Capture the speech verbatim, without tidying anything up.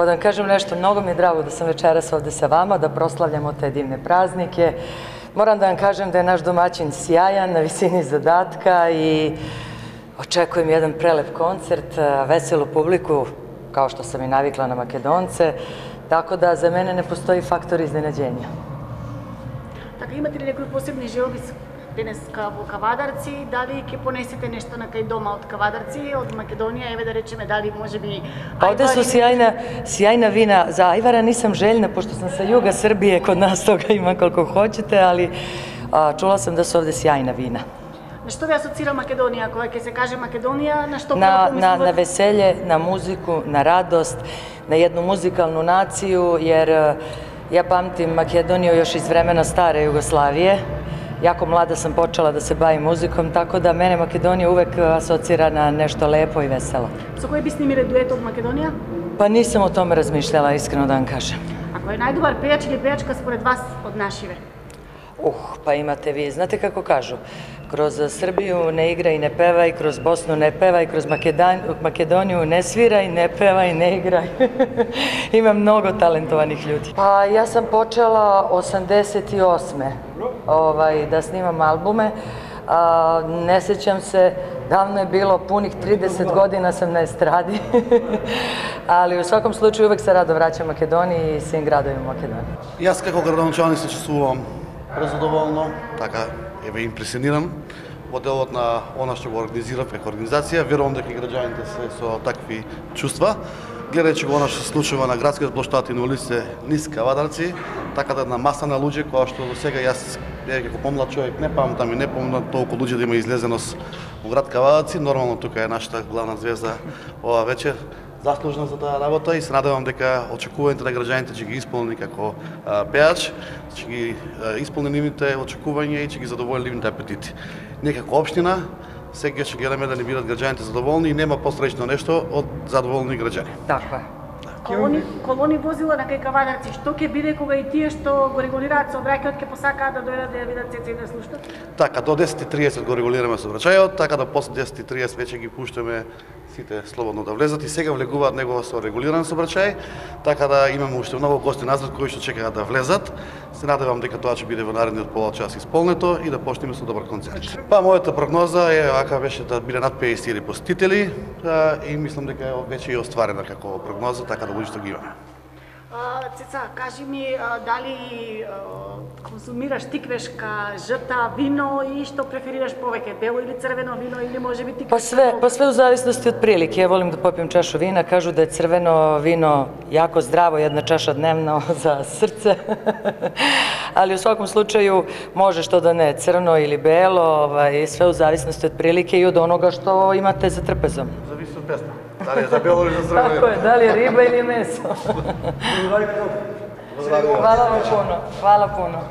Pa da vam kažem nešto, mnogo mi je drago da sam večeras ovde sa vama, da proslavljamo te divne praznike. Moram da vam kažem da je naš domaćin sjajan, na visini zadatka i očekujem jedan prelep koncert, veselu publiku, kao što sam i navikla na Makedonce, tako da za mene ne postoji faktor iznenađenja. Така, имате ли некој посебни желби денес во Кавадарци? Дали ќе понесете нешто на кај дома од Кавадарци, од Македонија, еве да речеме, дали можеби Pa ovde su sjajna, sjajna vina. Za ajvara nisam željna, pošto sam sa juga Srbije, kod nas toga ima koliko hoćete, ali a, čula sam da su ovde sjajna vina. На што ви асоцира Македонија? Кога ќе се каже Македонија, на што Na, прво na, na помислувате? veselje, na muziku, na radost, na jednu muzikalnu naciju, jer e, ja pamtim Makedoniju još iz vremena stare Jugoslavije. Jako mlada sam počela da se bavim muzikom, tako da mene Makedonija uvek asocira na nešto lepo i veselo. Со кој би снимиле дует од Македонија? Pa nisam o tome razmišljala, iskreno da vam kažem. А кој е најдобар пејач или пејачка според вас од нашиве? Uh, pa imate vi, znate kako kažu, kroz Srbiju ne igra i ne peva i kroz Bosnu ne peva i kroz Makedan, Makedoniju ne svira i ne peva i ne igra. Ima mnogo talentovanih ljudi. Pa ja sam počela osamdeset osme ovaj, da snimam albume. A, ne sjećam se, davno je bilo, punih trideset godina sam na estradi, ali u svakom slučaju uvek se rado vraćam Makedoniji i svim gradovima Makedonije. Јас како градоначалник се чувствувам презадоволно, така еве импресиониран во делот на она што го организира преку организација. Верувам дека и граѓаните се со такви чувства. Гледајќи го она што се случува на градскиот плоштад и на улиците низ Кавадарци, така да на маса на луѓе која што до сега јас како помлад човек не памтам и не помнам толку луѓе да има излезеност во град Кавадарци. Нормално тука е нашата главна звезда ова вечер, заслужна за таа работа и се надевам дека очекувањата на граѓаните ќе ги исполни како а, пеач, ќе ги а, исполни нивните очекувања и ќе ги задоволи нивните апетити. Ние како општина сега ќе гледаме да ни бидат граѓаните задоволни и нема посреќно нешто од задоволни граѓани. Tako je. Колони, колони возила на кај Кавадарци, што ќе биде кога и тие што го регулираат сообраќајот ќе посакаат да дојдат да ја видат Цеца и да слушнат? Така, до десет и тридесет го регулираме сообраќајот, така да после десет и тридесет веќе ги пуштаме сите слободно да влезат и сега влегуваат него со регулиран сообраќај, така да имаме уште многу гости назад кои што чекаат да влезат. Се надевам дека тоа ќе биде во наредниот пола час исполнето и да почнеме со добар концерт. Па мојата прогноза е ака беше да биде над педесет илјади посетители а, и мислам дека е веќе и остварена како прогноза, така да луѓето ги имаме. А, Цеца, кажи ми, а, дали а, консумираш тиквешка, жта, вино и што преферираш повеќе, бело или црвено вино или можеби тиквешка? Pa sve, pa sve u zavisnosti od prilike. Ja volim da popijem čašu vina, kažu da je crveno vino jako zdravo, jedna čaša dnevno za srce. Ali u svakom slučaju može što da ne, crno ili belo, ovaj, sve u zavisnosti od prilike i od onoga što imate za trpezom. Зависи од песна. Дали е за бело или за црвено? Tako je, da li je riba ili meso. Hvala vam puno, hvala puno.